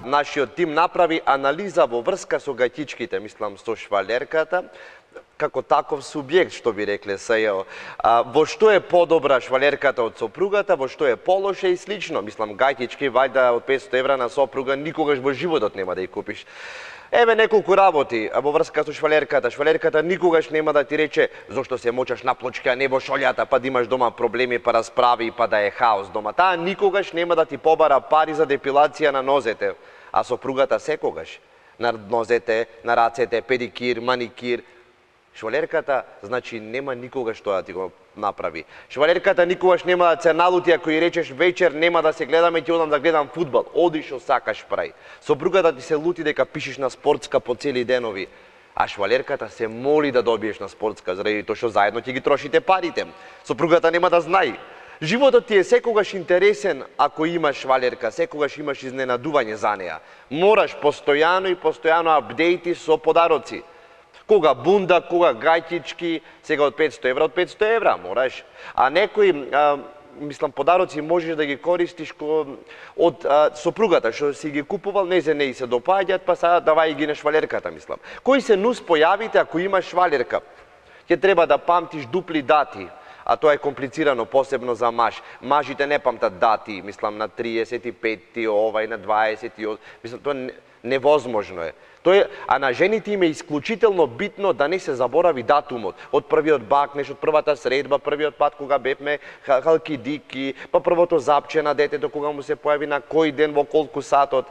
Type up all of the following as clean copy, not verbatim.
нашиот тим направи анализа во врска со гајтичките, мислам со швалерката, како таков субјект, што би рекле СЈО. Во што е подобра швалерката од сопругата, во што е полоше и слично. Мислам, гајтички, вајда од 500 евра на сопруга, никогаш во животот нема да ја купиш. Еве неколку работи во врска со швалерката. Швалерката никогаш нема да ти рече зошто се мочаш на плочка, не во шолјата, па да имаш дома проблеми, па расправи, па да е хаос дома. Таа никогаш нема да ти побара пари за депилација на нозете, а сопругата секогаш. На нозете, на рацете, педикир, маникир. Швалерката, значи, нема никогаш тоа да ти го направи. Швалерката никогаш нема да се налути ако ја речеш вечер нема да се гледаме, ќе одам да гледам фудбал. Оди што сакаш прај. Сопругата ти се лути дека пишеш на спортска по цели денови, а швалерката се моли да добиеш на спортска, заради тоа што заедно ќе ги трошите парите. Сопругата нема да знае. Животот ти е секогаш интересен ако имаш швалерка, секогаш имаш изненадување за неа. Мораш постојано и постојано апдејти со подароци. Кога бунда, кога гајтички, сега од 500 евра, од 500 евра мораш. А некои, мислам, подароци можеш да ги користиш од сопругата, што си ги купувал, не се допаѓаат, па сега давај ги на швалерката, мислам. Кои се нус појавите ако имаш швалерка? Ќе треба да памтиш дупли дати, а тоа е комплицирано, посебно за маж. Мажите не памтат дати, мислам, на 35-ти, овај, на 28, мислам, тоа невозможно е. А на жените им е исклучително битно да не се заборави датумот. Од првиот бакнеш, од првата средба, првиот пат кога бевме халкидики, па првото запче на детето кога му се појави на кој ден во колку сатот.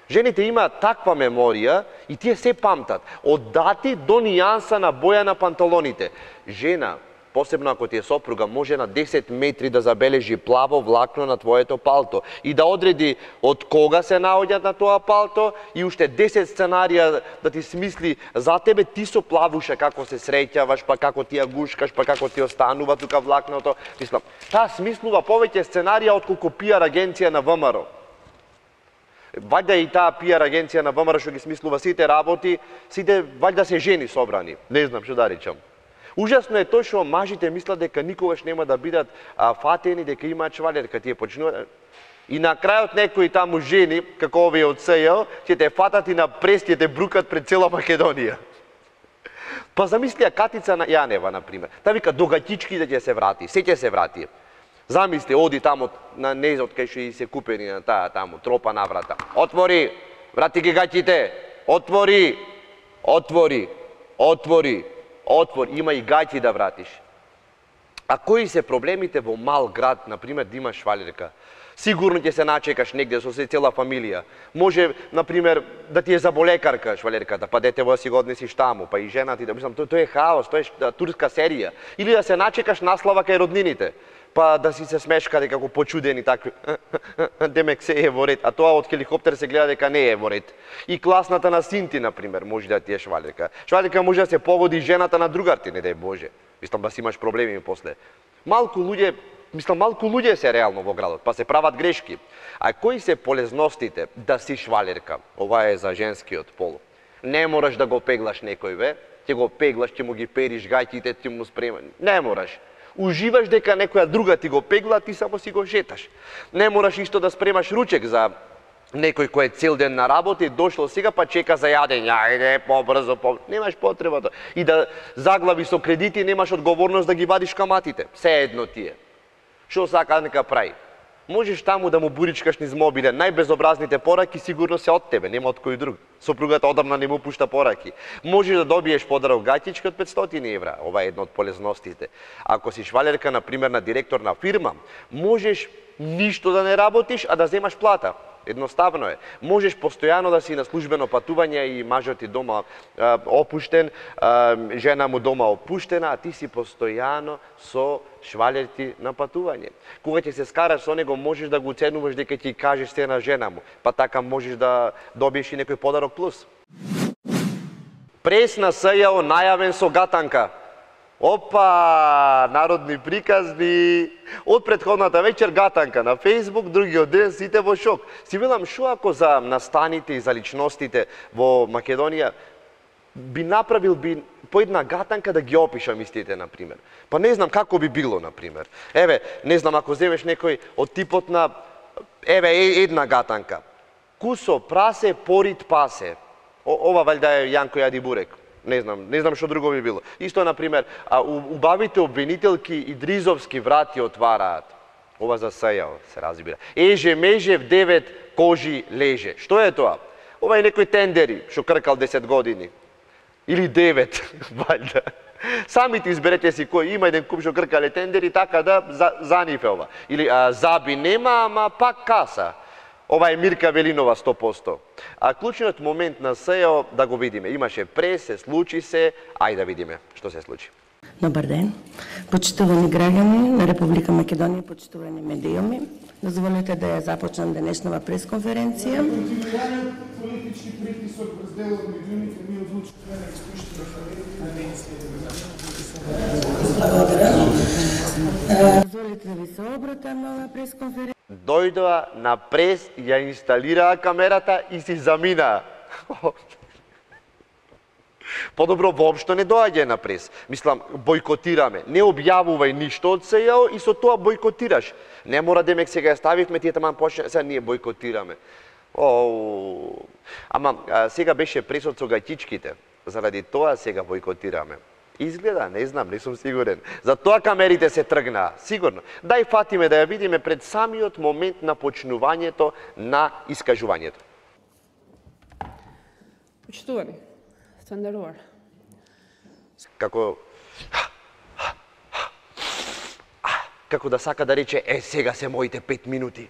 Жените имаат таква меморија и тие се памтат. Од дати до нијанса на боја на панталоните. Жена, посебно ако ти е сопруга, може на 10 метри да забележи плаво влакно на твоето палто и да одреди од кога се наоѓаат на тоа палто и уште 10 сценарија да ти смисли за тебе, ти со плавуша како се среќаваш, па како ти ја гушкаш, па како ти останува тука влакното. Мислам, таа смислува повеќе сценарија отколку пиар агенција на ВМРО. Вајда и таа пиар агенција на ВМРО што ги смислува сите работи, сите вајда се жени собрани. Не знам што да речам. Ужасно е тоа што мажите мислат дека никогаш нема да бидат фатени, дека имаат швалерка, тие почнуваат. И на крајот некои таму жени, како овие од СЈО, ќе те фатат и на прест, ќе те брукат пред цела Македонија. Па замисли Катица Јанева, например. Та вика, до гаќичките ќе се врати, се ќе се врати. Замисли, оди таму на незот кај што и се купени на таа таму, тропа на врата. Отвори, врати ги гаќите, отвори, отвори, отвори. Отвор, има и гајти да вратиш. А кои се проблемите во мал град, например, да имаш швалерка? Сигурно ќе се начекаш негде со се цела фамилија. Може, например, да ти е заболекарка швалерката, па дете во си го однесиш таму, па и жена ти, да мислам, тоа е хаос, тоа е турска серија. Или да се начекаш наслава кај роднините, па да си се смешкате како почудени такви. Демек се е во ред, а тоа од хеликоптер се гледа дека не е во ред. И класната на синти, например, може да ти е швалерка. Швалерка може да се погоди жената на другарти, не дај Боже. Мислам да си имаш проблеми после. Малку луѓе се реално во градот, па се прават грешки. А кои се полезностите да си швалерка? Ова е за женскиот пол. Не мораш да го пеглаш некој, бе. Ќе го пеглаш, ќе му ги периш гајките, ти му спремаш. Не мораш. Уживаш дека некоја друга ти го пегла, ти само си го шеташ. Не мораш исто да спремаш ручек за некој кој е цел ден на работа и дошло сега па чека за јадење. Ајде, побрзо, немаш потребата. И да заглави со кредити, немаш одговорност да ги вадиш каматите. Се едно тие. Што сака нека прави? Можеш таму да му буричкаш низ мобиле, најбезобразните пораки сигурно се од тебе, нема од кој друг. Сопругата одамна не му пушта пораки. Можеш да добиеш подарок гаќичка од 500 евра, ова е една од полезностите. Ако си швалерка, например, на директор на фирма, можеш ништо да не работиш, а да земаш плата. Едноставно е. Можеш постојано да си на службено патување и мажот ти дома опуштен, жена му дома опуштена, а ти си постојано со швалерти на патување. Кога ќе се скараш со него, можеш да го оценуваш дека ќе кажеш се на жена му, па така можеш да добиеш и некој подарок плюс. Прес на СЈО најавен со гатанка. Опа, народни приказни. Од претходната вечер гатанка на Facebook, другиот ден сите во шок. Си велам, шо ако за настаните и за личностите во Македонија би направил по една гатанка да ги опишам истите, например. Па не знам како би било, например. Еве, не знам, ако земеш некој од типот на, еве, една гатанка. Кусо прасе, порит пасе. Ова валјда е Јанко јади бурек. Не знам што друго би било. Исто, например, убавите обвинителки и дризовски врати отвараат. Ова за СЈО се разбира. Еже, меже, в 9 кожи леже. Што е тоа? Ова е некој тендери, што кркал 10 години. Или 9, валјда. Самите изберете си кој има еден куп што кркале тендери, така да за нив е ова. Или заби нема, ама пак каса. Ова е Мирка Велинова 100%. А клучниот момент на СЈО да го видиме. Имаше прес, се случи се, ајде да видиме што се случи. Добар ден. Почитувани граѓани на Република Македонија, почитувани медиуми. Дозволете да ја започнам денешнава пресконференција. Политички притисок врз дел од медиумите ми одлучивме да испуштиме Дозволете да ви се обратам на оваа пресконференција. Дојдоа на прес, ја инсталираа камерата и си заминаа. Подобро воопшто не доаѓа на прес. Мислам, бойкотираме. Не објавувај ништо од СЈО и со тоа бойкотираш. Не мора демек сега ја ставивме, тие таман почне, сега ние бойкотираме. Ама сега беше пресот со гаќичките. Заради тоа сега бойкотираме. Изгледа, не знам, не сум сигурен. За тоа камерите се тргнаа, сигурно. Дај фатиме да ја видиме пред самиот момент на почнувањето на искажувањето. Почитувани, Стандарова. Како да сака да рече, сега се моите 5 минути.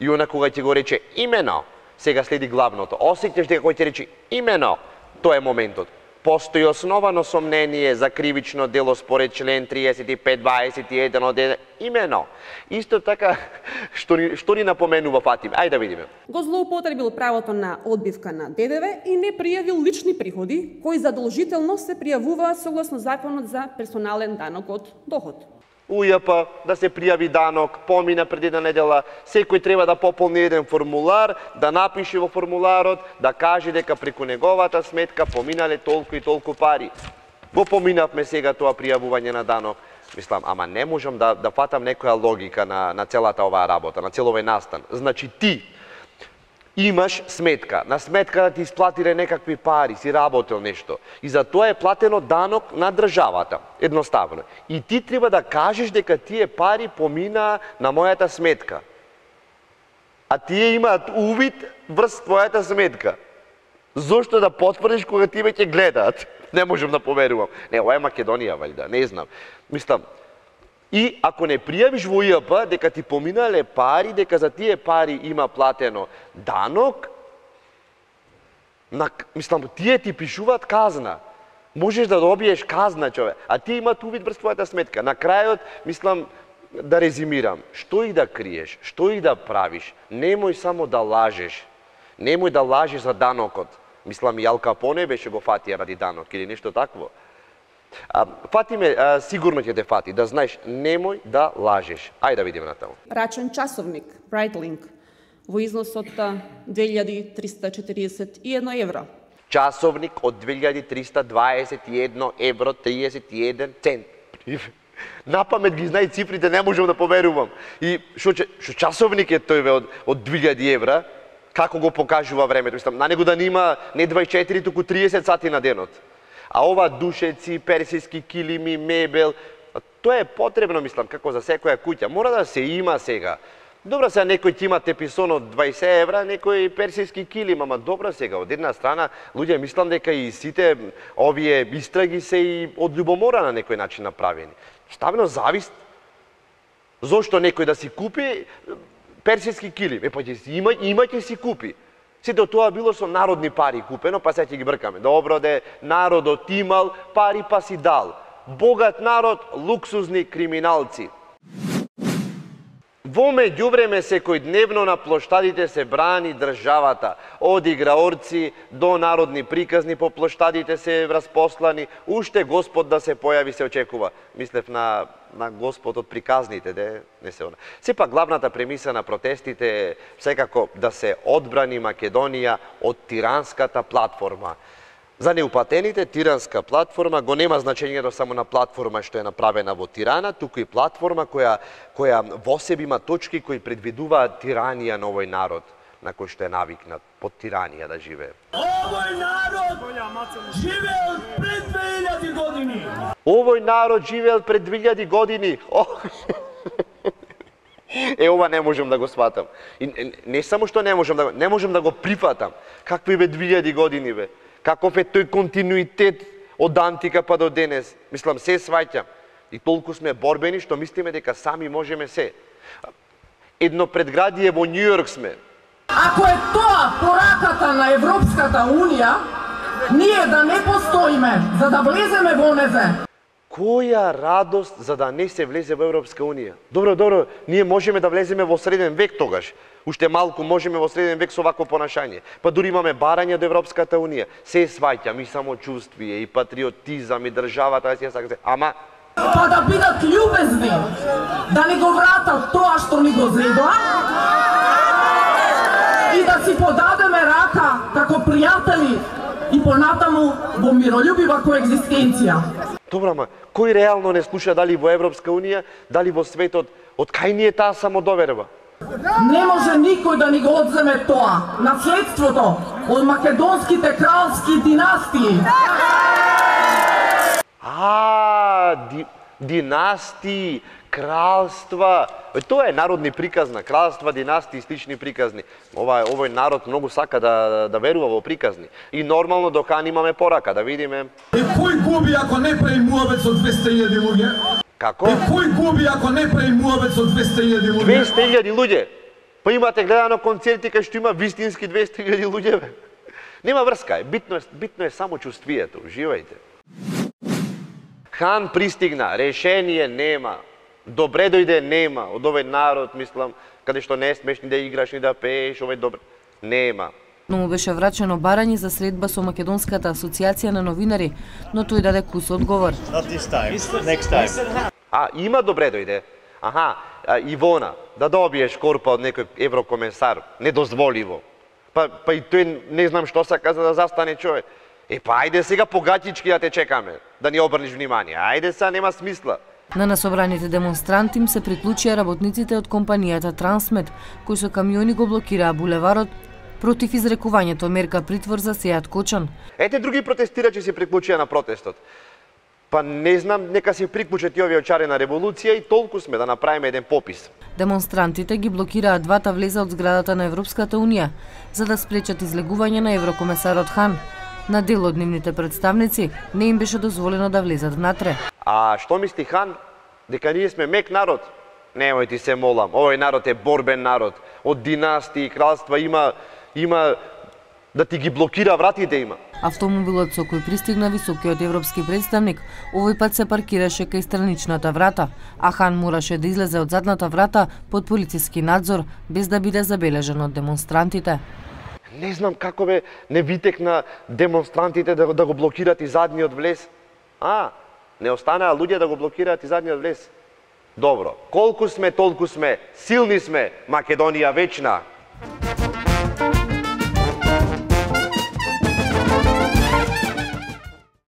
И она кога ќе го рече имено, сега следи главното. Осеќаш дека кој ќе рече имено, тоа е моментот. Постои основано сомнение за кривично дело според член 35-21 од имено. Исто така, што ни напоменува Фатиме? Ајде да видиме. Го злоупотребил правото на одбивка на ДДВ и не пријавил лични приходи, кои задолжително се пријавуваат согласно Законот за персонален данок од доход. УЈП, да се пријави данок, помина пред една недела, секој треба да пополни еден формулар, да напише во формуларот, да каже дека преку неговата сметка поминале толку и толку пари. Го поминавме сега тоа пријавување на данок. Мислам, ама не можам да фатам некоја логика на целата оваа работа, на цел овој настан. Значи ти имаш сметка, на сметката ти исплатиле некакви пари, си работел нешто. И за тоа е платено данок на државата, едноставно. И ти треба да кажеш дека тие пари поминаа на мојата сметка. А тие имаат увид врз твојата сметка. Зошто да потврдиш кога ти веќе гледаат? Не можам да поверувам. Не, ова е Македонија, валјда, не знам. Мислам, и ако не пријавиш во УЈП дека ти поминале пари, дека за тие пари има платено данок, мислам, тие ти пишуваат казна. Можеш да добиеш казна, човек, а тие имаат увид врз твојата сметка. На крајот, мислам, да резимирам, што и да криеш, што и да правиш, немој само да лажеш. Немој да лажеш за данокот. Мислам, и Ал Капоне беше го фатија ради данок или нешто такво. Фатиме, сигурно ќе те фати, да знаеш, немој да лажеш. Ајде да видиме натаму. Рачен часовник, Breitling, во износ од 2341 евро. Часовник од 2321 евро 31 цент. Напамет ги знај цифрите, не можам да поверувам. И што часовник е тој од 2000 евра, како го покажува времето? Мислам, на него да нема не 24, туку 30 сати на денот. А ова душеци, персиски килими, мебел, тоа е потребно, мислам, како за секоја куќа. Мора да се има сега. Добро сега некој ќе има теписон од 20 евра, некој персиски килим, ама добро сега, од една страна, луѓе, мислам дека и сите овие истраги се и од љубомора на некој начин направени. Ставено завист. Зошто некој да си купи персиски килим? Па ќе си има ќе си купи. Сето тоа било со народни пари купено, па сега ќе ги бркаме. Добро де, народот имал пари па си дал. Богат народ, луксузни криминалци. Во меѓувреме секојдневно на плоштадите се брани државата. Од играорци до народни приказни по плоштадите се распослани. Уште Господ да се појави се очекува. Мислев на Господ од приказните, не се она. Сепак главната премиса на протестите е секако да се одбрани Македонија од тиранската платформа. За неуплатените, тиранска платформа го нема значењето само на платформа што е направена во Тирана, туку и платформа која во себе има точки кои предвидуваат тиранија на овој народ, на кој што е навикнат под тиранија да живее. Овој народ живеел пред 2000 години. Овој народ живеел пред 2000 години. Ова не можам да го сватам. И не само што не можам да го прифатам. Какви бе 2000 години бе? Каков е тој континуитет од антика па до денес? Мислам, се сваќам. И толку сме борбени што мислиме дека сами можеме се. Едно предградие во Њујорк сме. Ако е тоа пораката на Европската Унија, ние да не постоиме, за да влеземе во незе. Која радост за да не се влезе во Европска Унија? Добро, ние можеме да влеземе во среден век тогаш. Уште малку можеме во среден век со вакво понашање. Па дури имаме барање до Европската Унија. Се сваќам, и самочувствие, и патриотизам, и државата, да си ја сака. Ама па да бидат љубезни, да ни го вратат тоа што ни го зедоа и да си подадеме рака како пријатели и понатаму во миролюбива коегзистенција. добро, ама кој реално не слуша дали во Европска Унија, дали во светот, од кај ни е таа самодоверба? Не може никој да ни го одземе тоа, наследството од македонските кралски династии. Династии, кралства. Тоа е народни приказна, кралства, династии, слични приказни. Овој народ многу сака да верува во приказни. И нормално докан имаме порака, да видиме. И кој губи ако не прави муабет со 200.000 луѓе? Како? И кој губи ако не прави муабет со 200.000 луѓе? 200.000 луѓе. Па имате гледано концерти кај што има вистински 200.000 луѓе, бе. Нема врска, битно е само чувствието, уживајте. Хан пристигна, решение нема. Добре дојде нема. Од овој народ, мислам, каде што не смеш ни да играш, ни да пееш, овој добре. Нема. Но му беше врачено барање за средба со Македонската асоциација на новинари, но тој даде кус одговор. Not this time, next time. Има добре дојде. Ивона, да добиеш корпа од некој еврокомесар, недозволиво. Па и тој не знам што сака за да застане човек. Па ајде сега погатички да те чекаме, да ни обрниш внимание. Ајде сега, нема смисла. На насобраните демонстранти им се приклучија работниците од компанијата Трансмед, кои со камиони го блокираа булеварот против изрекувањето мерка притвор за Сејат Кочан. Ете други протестирачи се приклучија на протестот. Па не знам, нека се приклучат и овие очари на револуција и толку сме да направиме еден попис. Демонстрантите ги блокираат двата влеза од зградата на Европската Унија, за да спречат излегување на еврокомесарот Хан. На дел од нивните представници не им беше дозволено да влезат внатре. Што мисли Хан? Дека ние сме мек народ? Немој ти се молам, овој народ е борбен народ. Од династии и кралства има да ти ги блокира вратите има. Автомобилот со кој пристигна високиот европски представник овој пат се паркираше кај страничната врата, а Хан мораше да излезе од задната врата под полициски надзор без да биде забележан од демонстрантите. Не знам како бе не витекна демонстрантите да го блокираат и задниот влез. Не останаа луѓе да го блокираат и задниот влез. Добро, колку сме, толку сме, силни сме, Македонија вечна.